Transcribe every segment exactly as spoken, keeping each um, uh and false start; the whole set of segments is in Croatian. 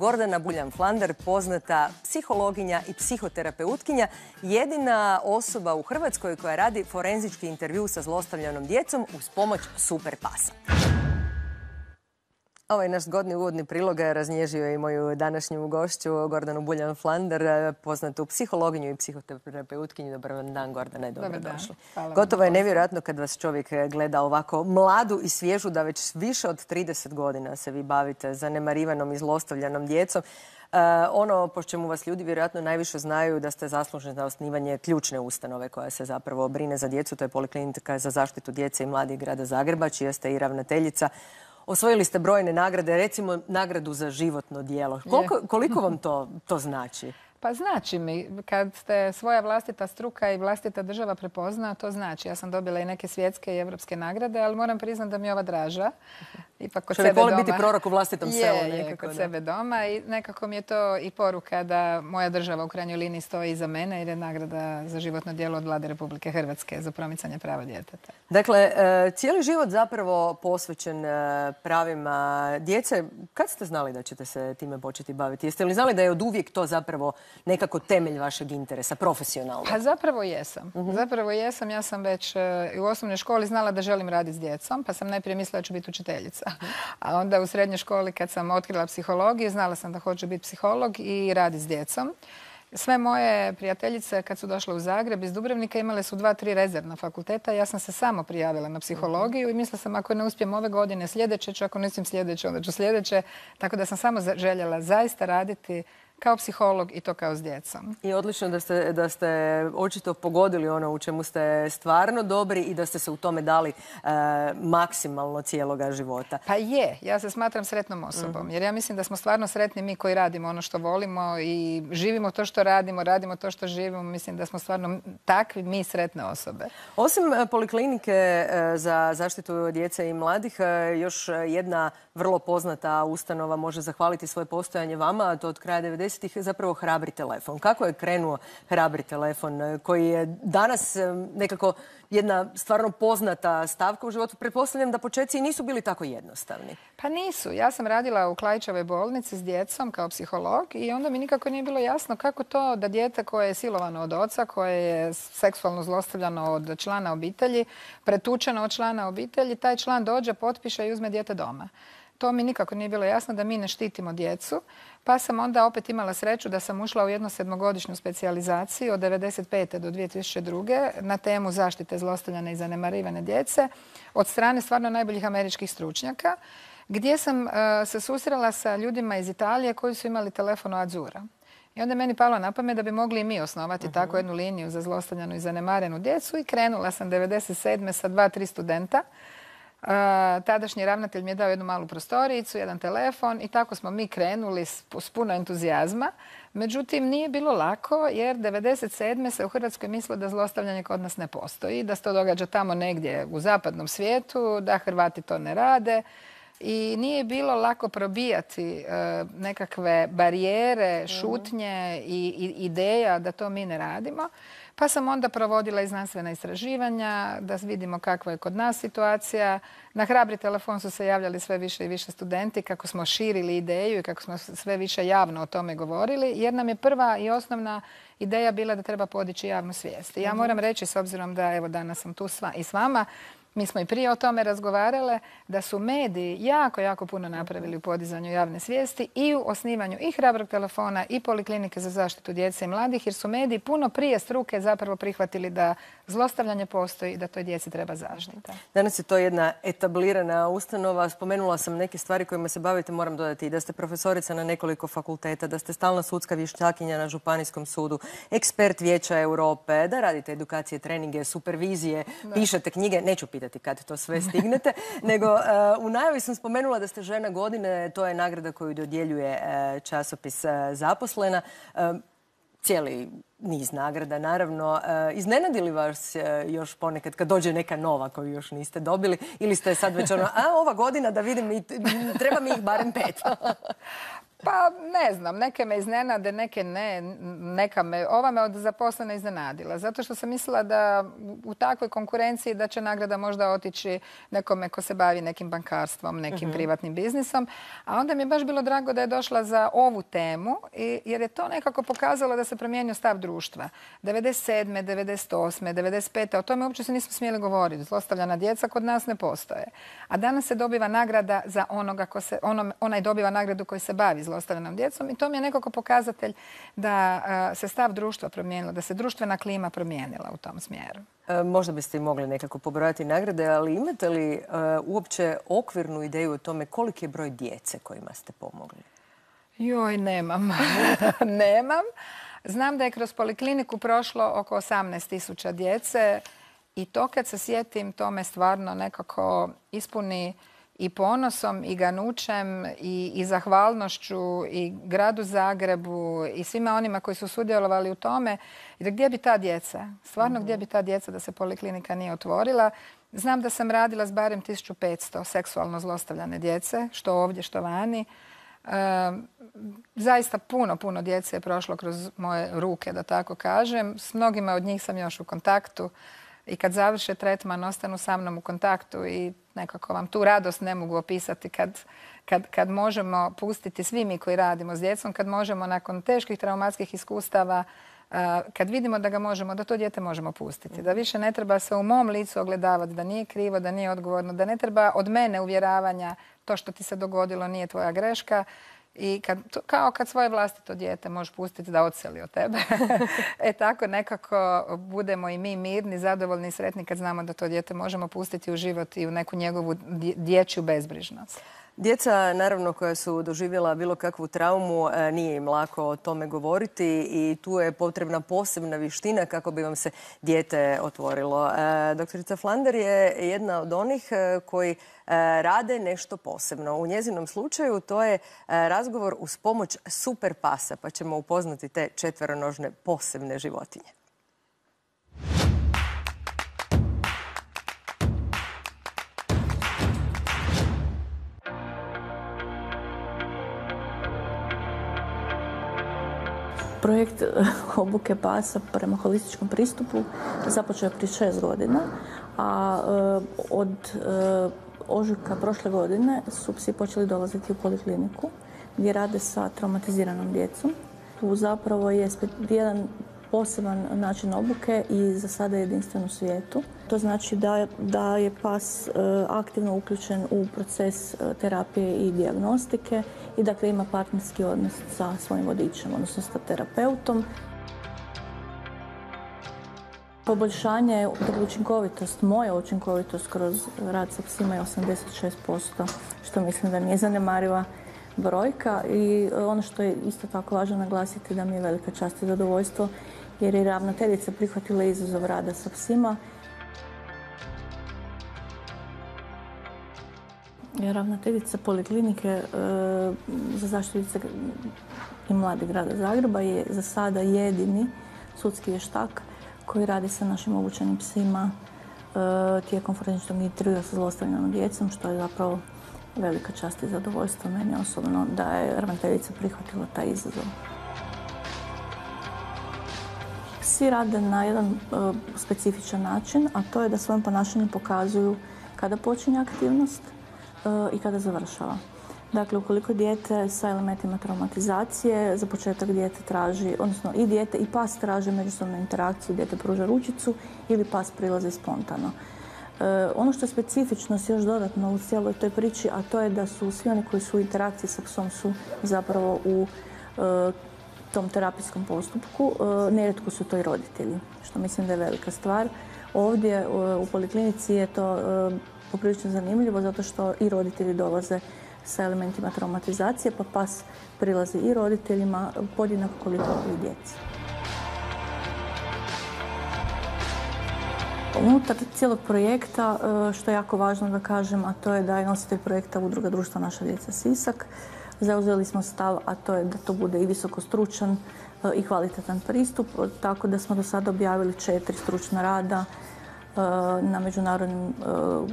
Gordana Buljan-Flander, poznata psihologinja i psihoterapeutkinja, jedina osoba u Hrvatskoj koja radi forenzički intervju sa zlostavljanom djecom uz pomoć super pasa. Ovaj naš zgodni uvodni prilog raznježio je i moju današnju gošću, Gordanu Buljan-Flander, poznatu psihologinju i psihoterapeutkinju. Dobar dan, Gordana, dobrodošli. Gotovo je nevjerojatno kad vas čovjek gleda ovako mladu i svježu, da već više od trideset godina se vi bavite zanemarivanom i zlostavljanom djecom. Uh, ono po čemu vas ljudi vjerojatno najviše znaju da ste zaslužni za osnivanje ključne ustanove koja se zapravo brine za djecu. To je Poliklinika za zaštitu djece i mladih grada Zagreba, čija ste i ravnateljica. Osvojili ste brojne nagrade, recimo nagradu za životno djelo. Koliko, koliko vam to, to znači? Pa znači mi, kad ste svoja vlastita struka i vlastita država prepozna, to znači. Ja sam dobila i neke svjetske i evropske nagrade, ali moram priznati da mi je ova draža. Ipak kod Čovjek sebe voli doma. biti prorok u vlastitom selu. Je, je, kod sebe doma i nekako mi je to i poruka da moja država u krajnjoj liniji stoji iza mene jer je nagrada za životno djelo od Vlade Republike Hrvatske za promicanje prava djeteta. Dakle, cijeli život zapravo posvećen pravima djece. Kad ste znali da ćete se time početi baviti? Jeste li znali da je od uvijek to zapravo nekako temelj vašeg interesa, profesionalno? Pa zapravo jesam. Uh-huh. Zapravo jesam. Ja sam već u osnovnoj školi znala da želim raditi s djecom, pa sam najprije mislila da ću biti učiteljica. A onda u srednjoj školi kad sam otkrila psihologiju, znala sam da hoću biti psiholog i raditi s djecom. Sve moje prijateljice kad su došle u Zagreb iz Dubrovnika imale su dva, tri rezervna fakulteta. Ja sam se samo prijavila na psihologiju i mislila sam ako ne uspijem ove godine sljedeće ću, ako ne uspijem sljedeće onda ću sljedeće. Tako da sam samo željela zaista raditi kao psiholog i to kao s djecom. I odlično da ste, da ste očito pogodili ono u čemu ste stvarno dobri i da ste se u tome dali e, maksimalno cijeloga života. Pa je, ja se smatram sretnom osobom. Uh-huh. Jer ja mislim da smo stvarno sretni mi koji radimo ono što volimo i živimo to što radimo, radimo to što živimo. Mislim da smo stvarno takvi mi sretne osobe. Osim Poliklinike za zaštitu djece i mladih, još jedna vrlo poznata ustanova može zahvaliti svoje postojanje vama, a to od kraja devedesetih zapravo Hrabri telefon. Kako je krenuo Hrabri telefon koji je danas nekako jedna stvarno poznata stavka u životu? Pretpostavljam da početci nisu bili tako jednostavni. Pa nisu. Ja sam radila u Klaićevoj bolnici s djecom kao psiholog i onda mi nikako nije bilo jasno kako to da dijete koje je silovano od oca, koje je seksualno zlostavljano od člana obitelji, pretučeno od člana obitelji, taj član dođe, potpiše i uzme dijete doma. To mi nikako nije bilo jasno da mi ne štitimo djecu. Pa sam onda opet imala sreću da sam ušla u jednu sedmogodišnju specijalizaciju od devedeset pete do dvije tisuće druge na temu zaštite zlostavljane i zanemarivane djece od strane stvarno najboljih američkih stručnjaka, gdje sam uh, se susrela sa ljudima iz Italije koji su imali telefon Azzurra. I onda je meni palo na pamet da bi mogli i mi osnovati uh-huh. tako jednu liniju za zlostavljanu i zanemarenu djecu i krenula sam devedeset sedme sa dva, tri studenta. Uh, tadašnji ravnatelj mi je dao jednu malu prostoricu, jedan telefon i tako smo mi krenuli s, s puno entuzijazma. Međutim, nije bilo lako jer devedeset sedme se u Hrvatskoj mislilo da zlostavljanje kod nas ne postoji, da se to događa tamo negdje u zapadnom svijetu, da Hrvati to ne rade. I nije bilo lako probijati uh, nekakve barijere, šutnje i, i ideja da to mi ne radimo. Pa sam onda provodila i znanstvena istraživanja da vidimo kakva je kod nas situacija. Na Hrabri telefon su se javljali sve više i više studenti kako smo širili ideju i kako smo sve više javno o tome govorili. Jer nam je prva i osnovna ideja bila da treba podići javnu svijest. I ja moram reći, s obzirom da evo danas sam tu sva, i s vama, mi smo i prije o tome razgovarale, da su mediji jako, jako puno napravili u podizanju javne svijesti i u osnivanju i Hrabrog telefona i Poliklinike za zaštitu djece i mladih, jer su mediji puno prije struke zapravo prihvatili da zlostavljanje postoji i da toj djeci treba zaštita. Danas je to jedna etablirana ustanova. Spomenula sam neke stvari kojima se bavite. Moram dodati i da ste profesorica na nekoliko fakulteta, da ste stalna sudska vještakinja na Županijskom sudu, ekspert Vijeća Europe, da radite edukacije, treninge, supervizije, da. Pišete knjige. Neću pitati kad to sve stignete, nego uh, u najavi sam spomenula da ste žena godine. To je nagrada koju dodjeljuje uh, časopis uh, Zaposlena. Uh, cijeli niz nagrada, naravno. Uh, iznenadi li vas uh, još ponekad kad dođe neka nova koju još niste dobili? Ili ste sad već ono, a ova godina da vidim, treba mi ih barem pet? Pa ne znam, neke me iznenade, neke ne, neka me, ova me od zaposlene iznenadila. Zato što sam mislila da u takvoj konkurenciji da će nagrada možda otići nekome ko se bavi nekim bankarstvom, nekim uh-huh. privatnim biznisom. A onda mi je baš bilo drago da je došla za ovu temu, jer je to nekako pokazalo da se promijenio stav društva. devedeset sedme, devedeset osme, devedeset pete o tome uopće se nismo smjeli govoriti. Zlostavljana djeca kod nas ne postoje. A danas se dobiva nagrada za onoga ko se, ono, onaj dobiva nagradu koji se bavi zlostavljanom djecom i to mi je nekako pokazatelj da a, se stav društva promijenilo, da se društvena klima promijenila u tom smjeru. E, možda biste i mogli nekako pobrojati nagrade, ali imate li e, uopće okvirnu ideju o tome koliki je broj djece kojima ste pomogli? Joj, nemam. nemam. Znam da je kroz polikliniku prošlo oko osamnaest tisuća djece i to kad se sjetim, to me stvarno nekako ispuni i ponosom i ganućem i, i zahvalnošću i gradu Zagrebu i svima onima koji su sudjelovali u tome. I da gdje bi ta djeca? Stvarno mm-hmm. gdje bi ta djeca da se poliklinika nije otvorila? Znam da sam radila s barem tisuću petsto seksualno zlostavljane djece, što ovdje, što vani. E, zaista puno, puno djece je prošlo kroz moje ruke, da tako kažem. S mnogima od njih sam još u kontaktu. I kad završe tretman, ostanu sa mnom u kontaktu i nekako vam tu radost ne mogu opisati kad, kad, kad možemo pustiti svi mi koji radimo s djecom, kad možemo nakon teških traumatskih iskustava, kad vidimo da ga možemo, da to dijete možemo pustiti. Da više ne treba se u mom licu ogledavati, da nije krivo, da nije odgovorno, da ne treba od mene uvjeravanja to što ti se dogodilo nije tvoja greška. I kad, kao kad svoje vlastito dijete možeš pustiti da odseli od tebe. E tako nekako budemo i mi mirni, zadovoljni i sretni kad znamo da to dijete možemo pustiti u život i u neku njegovu dječju bezbrižnost. Djeca, naravno, koja su doživjela bilo kakvu traumu, nije im lako o tome govoriti i tu je potrebna posebna vještina kako bi vam se dijete otvorilo. Doktorica Flander je jedna od onih koji rade nešto posebno. U njezinom slučaju to je razgovor uz pomoć super pasa, pa ćemo upoznati te četveronožne posebne životinje. Projekt obuke pasa prema holističkom pristupu započeo je prije šest godina, a od ožujka prošle godine su psi počeli dolaziti u polikliniku gdje rade sa traumatiziranom djecom. Tu zapravo je jedan poseban način obuke i za sada jedinstven u svijetu. To znači da, da je pas aktivno uključen u proces terapije i dijagnostike i dakle ima partnerski odnos sa svojim vodičem, odnosno sa terapeutom. Poboljšanje, dakle učinkovitost, moja učinkovitost kroz rad sa psima je osamdeset šest posto, što mislim da nije zanemariva brojka. I ono što je isto tako važno naglasiti da mi je velika čast i zadovoljstvo jer je ravnateljica prihvatila izazov rada sa psima. Ravnateljica poliklinike e, za zaštitu djece i mladih grada Zagreba je za sada jedini sudski vještak koji radi sa našim obučenim psima e, tijekom forenzičnog intervjua sa zlostavljanom djecom, što je zapravo velika čast i zadovoljstvo meni osobno da je ravnateljica prihvatila taj izazov. Psi rade na jedan uh, specifičan način, a to je da svojim ponašanjem pokazuju kada počinje aktivnost uh, i kada završava. Dakle, ukoliko dijete sa elementima traumatizacije, za početak dijete traži, odnosno i dijete i pas traže međusobnu interakciju, dijete pruža ručicu ili pas prilazi spontano. Uh, ono što je specifičnost još dodatno u cijeloj toj priči, a to je da su svi oni koji su u interakciji sa psom su zapravo u uh, tom terapijskom postupku, nerijetko su to i roditelji, što mislim da je velika stvar. Ovdje u poliklinici je to poprilično zanimljivo zato što i roditelji dolaze sa elementima traumatizacije, pa pas prilazi i roditeljima podjednako koliko i djeci. Unutar cijelog projekta, što je jako važno da kažem, a to je da je nositelj projekta Udruga društva Naša djeca Sisak. Zauzeli smo stav, a to je da to bude i visokostručan i kvalitetan pristup, tako da smo do sada objavili četiri stručna rada na međunarodnim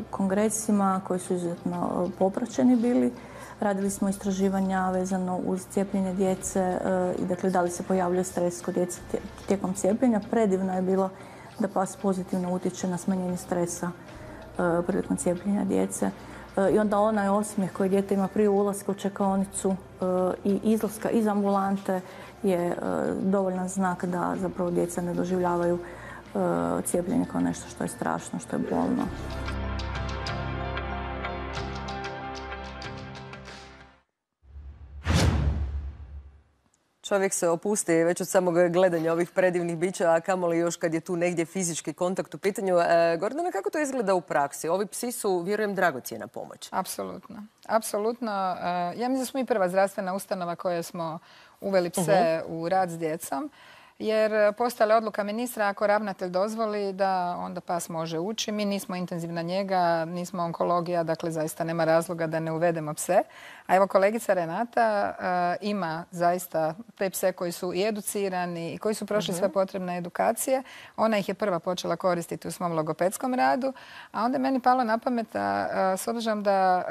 kongresima koji su izuzetno popraćeni bili. Radili smo istraživanja vezano uz cijepljenje djece i dakle da li se pojavljuje stres kod djece tijekom cijepljenja. Predivno je bilo da pas pozitivno utječe na smanjenje stresa prilikom cijepljenja djece. I onda onaj osmijeh koji dijete ima prije ulaska u čekaonicu i izlaska iz ambulante je dovoljan znak da zapravo djeca ne doživljavaju cijepljenje kao nešto što je strašno, što je bolno. Čovjek se opusti već od samog gledanja ovih predivnih bića, a kamoli još kad je tu negdje fizički kontakt u pitanju. E, Gordana, kako to izgleda u praksi? Ovi psi su, vjerujem, dragocjena pomoć. Apsolutno. Apsolutno. Ja mislim da smo i prva zdravstvena ustanova koja smo uveli pse uh-huh. u rad s djecom. Jer postala je odluka ministra, ako ravnatelj dozvoli, da onda pas može ući. Mi nismo intenzivna njega, nismo onkologija, dakle zaista nema razloga da ne uvedemo pse. A evo kolegica Renata uh, ima zaista te pse koji su i educirani i koji su prošli uh-huh. sve potrebne edukacije. Ona ih je prva počela koristiti u svom logopedskom radu. A onda je meni palo na pamet, uh, s obzirom da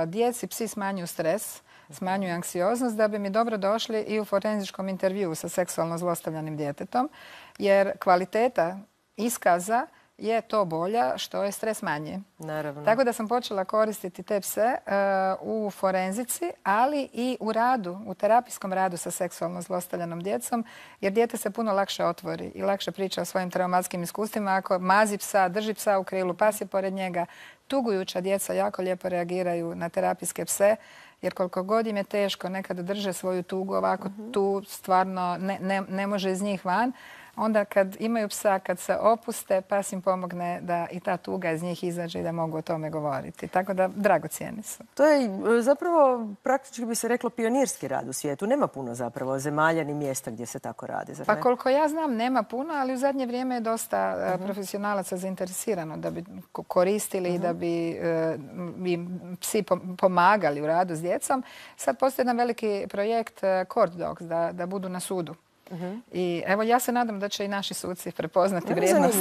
uh, djeci psi smanjuju stres, smanjuju anksioznost, da bi mi dobro došli i u forenzičkom intervjuu sa seksualno zlostavljanim djetetom, jer kvaliteta iskaza je to bolja što je stres manji. Naravno. Tako da sam počela koristiti te pse uh, u forenzici, ali i u radu, u terapijskom radu sa seksualno zlostavljanom djecom, jer dijete se puno lakše otvori i lakše priča o svojim traumatskim iskustvima. Ako mazi psa, drži psa u krilu, pas je pored njega, tugujuća djeca jako lijepo reagiraju na terapijske pse, jer koliko god im je teško nekada drže svoju tugu, ovako uh-huh. tu stvarno ne, ne, ne može iz njih van. Onda kad imaju psa, kad se opuste, pas im pomogne da i ta tuga iz njih izađe i da mogu o tome govoriti. Tako da dragocijeni su. To je zapravo, praktički bi se reklo, pionirski rad u svijetu. Nema puno zapravo zemalja ni mjesta gdje se tako radi. Zar ne? Pa koliko ja znam, nema puno, ali u zadnje vrijeme je dosta uh-huh. profesionalaca zainteresirano da bi koristili i uh-huh. da bi, uh, bi psi pomagali u radu s djecom. Sad postoji jedan veliki projekt uh, Court Dogs, da, da budu na sudu. Uh-huh. I evo ja se nadam da će i naši suci prepoznati vrijednost.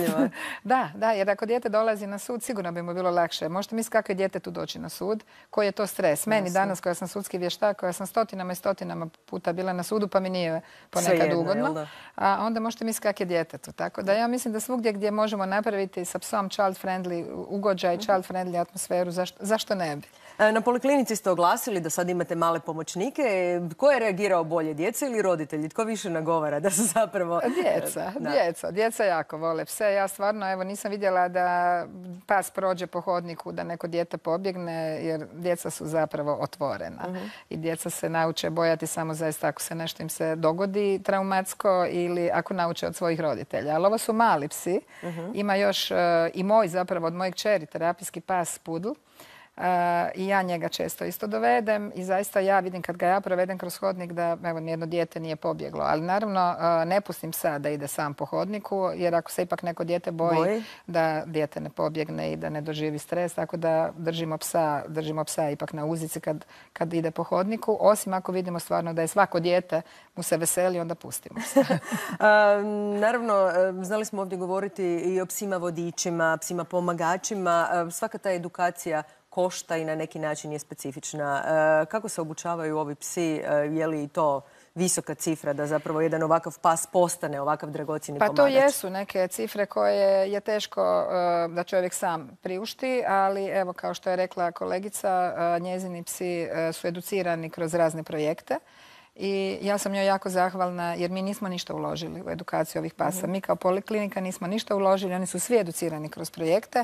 da, da, jer ako dijete dolazi na sud, sigurno bi mu bilo lakše. Možete misliti kako je dijete tu doći na sud, koji je to stres. Meni danas, koja sam sudski vještak, koja sam stotinama i stotinama puta bila na sudu, pa mi nije ponekad ugodno. A onda možete misliti kako je djetetu. Tako da ja mislim da svugdje gdje možemo napraviti sa psom child friendly ugođaj, uh-huh. child friendly atmosferu, zašto, zašto ne bi? Na poliklinici ste oglasili da sad imate male pomoćnike. Ko je reagirao bolje, djeca ili roditelji? Tko više nagovara da se zapravo... Djeca, da. djeca. Djeca jako vole pse. Ja stvarno evo, nisam vidjela da pas prođe po hodniku, da neko dijete pobjegne, jer djeca su zapravo otvorena. Uh-huh. I djeca se nauče bojati samo zaista ako se nešto im se dogodi traumatsko ili ako nauče od svojih roditelja. Ali ovo su mali psi. Uh-huh. Ima još uh, i moj zapravo od mojeg kćeri, terapijski pas Pudl. Uh, I ja njega često isto dovedem i zaista ja vidim kad ga ja provedem kroz hodnik da evo, nijedno dijete nije pobjeglo. Ali naravno uh, ne pustim psa da ide sam po hodniku, jer ako se ipak neko dijete boji, boji da dijete ne pobjegne i da ne doživi stres, tako da držimo psa, držimo psa ipak na uzici kad, kad ide po hodniku, osim ako vidimo stvarno da je svako dijete mu se veseli, onda pustimo psa. uh, naravno, znali smo ovdje govoriti i o psima vodičima, psima pomagačima. Uh, svaka ta edukacija košta i na neki način je specifična. E, kako se obučavaju ovi psi? E, je li to visoka cifra da zapravo jedan ovakav pas postane ovakav dragocjeni pomagač? Pa to jesu neke cifre koje je teško uh, da čovjek sam priušti, ali evo kao što je rekla kolegica, uh, njezini psi uh, su educirani kroz razne projekte. I ja sam njoj jako zahvalna jer mi nismo ništa uložili u edukaciju ovih pasa. Mm-hmm. Mi kao poliklinika nismo ništa uložili, oni su svi educirani kroz projekte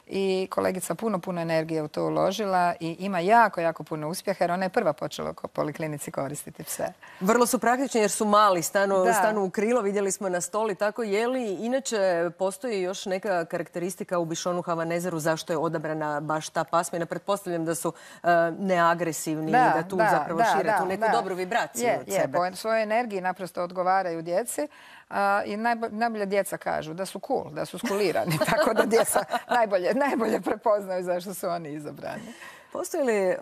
i kolegica puno, puno energije u to uložila i ima jako, jako puno uspjeha jer ona je prva počela u poliklinici koristiti pse. Vrlo su praktični jer su mali, stanu, stanu u krilo, vidjeli smo na stoli, tako je li. Inače, postoji još neka karakteristika u Bišonu Havanezeru zašto je odabrana baš ta pasmina. Pretpostavljam da su uh, neagresivni da, i da tu da, zapravo da, šire da, tu neku da. dobru vibraciju. Je, je, po svojoj energiji naprosto odgovaraju djeci uh, i najbolje, najbolje djeca kažu da su cool, da su skulirani, tako da djeca najbolje, najbolje prepoznaju zašto su oni izabrani. Postoji li uh,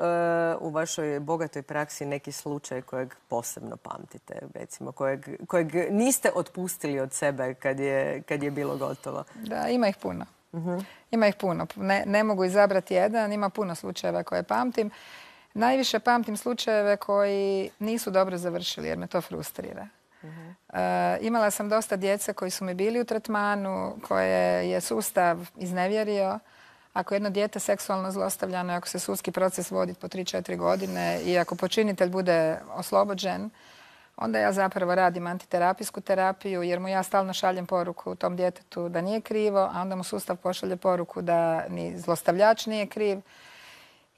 u vašoj bogatoj praksi neki slučaj kojeg posebno pamtite, recimo, kojeg, kojeg niste otpustili od sebe kad je, kad je bilo gotovo? Da, ima ih puno. Uh-huh. Ima ih puno. Ne, ne mogu izabrati jedan, ima puno slučajeva koje pamtim. Najviše pamtim slučajeve koji nisu dobro završili jer me to frustrira. Uh-huh. e, imala sam dosta djece koji su mi bili u tretmanu, koje je sustav iznevjerio. Ako jedno dijete seksualno zlostavljano, ako se sudski proces vodi po tri četiri godine i ako počinitelj bude oslobođen, onda ja zapravo radim antiterapijsku terapiju jer mu ja stalno šaljem poruku tom djetetu da nije krivo, a onda mu sustav pošalje poruku da ni zlostavljač nije kriv.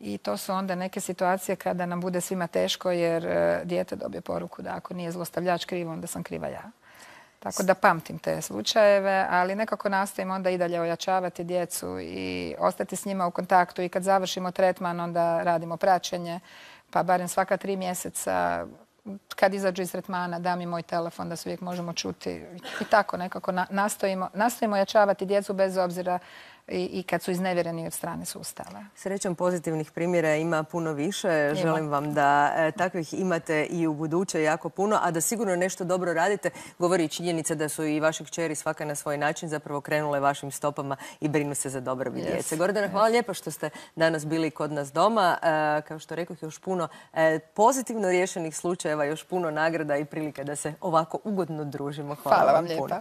I to su onda neke situacije kada nam bude svima teško jer dijete dobije poruku da ako nije zlostavljač kriv, onda sam kriva ja. Tako da pamtim te slučajeve, ali nekako nastojim onda i dalje ojačavati djecu i ostati s njima u kontaktu i kad završimo tretman onda radimo praćenje, pa barem svaka tri mjeseca kad izađu iz tretmana dam im moj telefon da se uvijek možemo čuti i tako nekako nastojimo, nastojimo ojačavati djecu bez obzira i, i kad su iznevjereni od strane sustava. Srećom pozitivnih primjera ima puno više. Ima. Želim vam da e, takvih imate i u buduće jako puno, a da sigurno nešto dobro radite. Govori činjenica da su i vaši kćeri svaka na svoj način zapravo krenule vašim stopama i brinu se za dobrobit yes. djece. Gordana, hvala yes. lijepo što ste danas bili kod nas doma. E, kao što rekoh, još puno e, pozitivno riješenih slučajeva, još puno nagrada i prilika da se ovako ugodno družimo. Hvala, hvala vam puno. Lijepa.